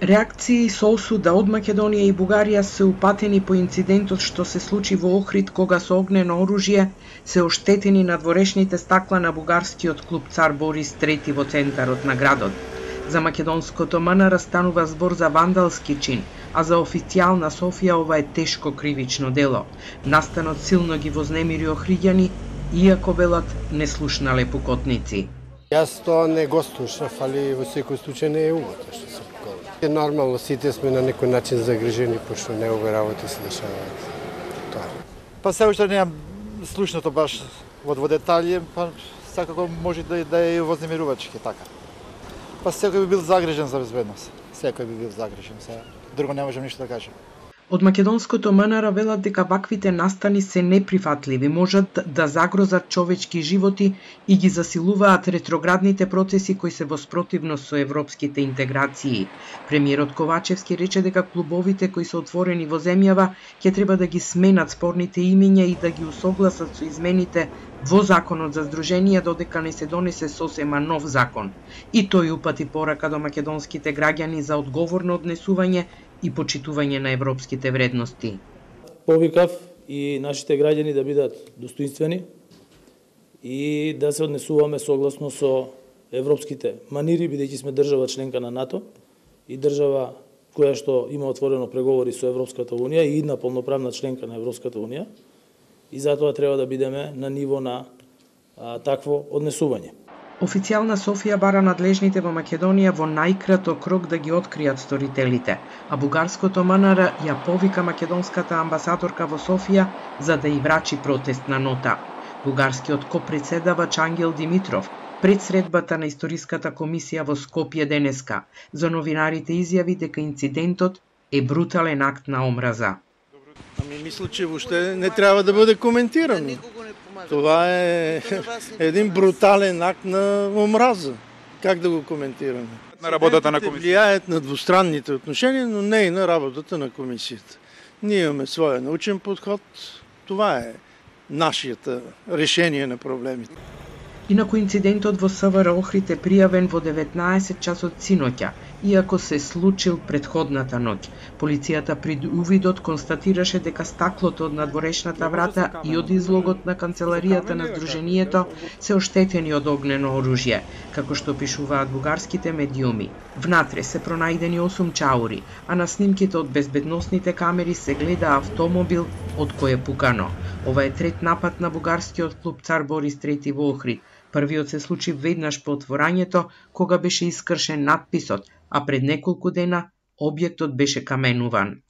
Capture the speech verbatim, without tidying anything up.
Реакции со осуда од Македонија и Бугарија се упатени по инцидентот што се случи во Охрид, кога со огнено оружје се оштетени надворешните стакла на бугарскиот клуб Цар Борис трети во центарот на градот. За македонското МНР станува збор за вандалски чин, а за официјална Софија ова е тешко кривично дело. Настанот силно ги вознемири охриѓани, иако велат не слушнале пукотници. Јас тоа не го слушнав, али во секој случај не е угодно што се поколува. Е нормално, сите сме на некој начин загрижени, пошто негови работи се дешаваат. Тоа. Па се уште неам слушнато баш во детали, па секако може да, да е вознемирувачки така. Па секој би бил загрижен за безбедност. Секој би бил загрижен, сега друго не можам ништо да кажам. Од македонското МНР велат дека ваквите настани се неприфатливи, можат да загрозат човечки животи и ги засилуваат ретроградните процеси кои се во спротивност со европските интеграции. Премиерот Ковачевски рече дека клубовите кои се отворени во земјава ќе треба да ги сменат спорните имиња и да ги усогласат со измените во законот за здруженија додека не се донесе сосема нов закон. И тој упати порака до македонските граѓани за одговорно однесување и почитување на европските вредности. Повикав и нашите граѓани да бидат достоинствени и да се однесуваме согласно со европските манири, бидејќи сме држава членка на НАТО и држава која што има отворено преговори со Европската Унија и една полноправна членка на Европската Унија, и затоа треба да бидеме на ниво на а, такво однесување. Официјална Софија бара надлежните во Македонија во најкраток рок да ги откријат сторителите, а бугарското МНР ја повика македонската амбасадорка во Софија за да ја врачи протестна нота. Бугарскиот копредседавач Ангел Димитров пред средбата на историската комисија во Скопје денеска за новинарите изјави дека инцидентот е брутален акт на омраза. Ами мисля, че въобще не трябва да бъде коментирано. Това е един брутален акт на омраза. Как да го коментираме? На работата на комисията. Влияят на двустранните отношения, но не и на работата на комисията. Ние имаме своя научен подход. Това е нашето решение на проблемите. Инаку инцидентот во СВР Охрид е пријавен во деветнаесет часот синоќа, иако се случил предходната ноќ. Полицијата пред увидот констатираше дека стаклото од надворешната врата и од излогот на канцеларијата на здруженијето се оштетени од огнено оружје, како што пишуваат бугарските медиуми. Внатре се пронајдени осум чаури, а на снимките од безбедносните камери се гледа автомобил од кој е пукано. Ова е трет напад на бугарскиот клуб Цар Борис трети во Охрид. Првиот се случи веднаш по отворањето, кога беше искршен надписот, а пред неколку дена објектот беше каменуван.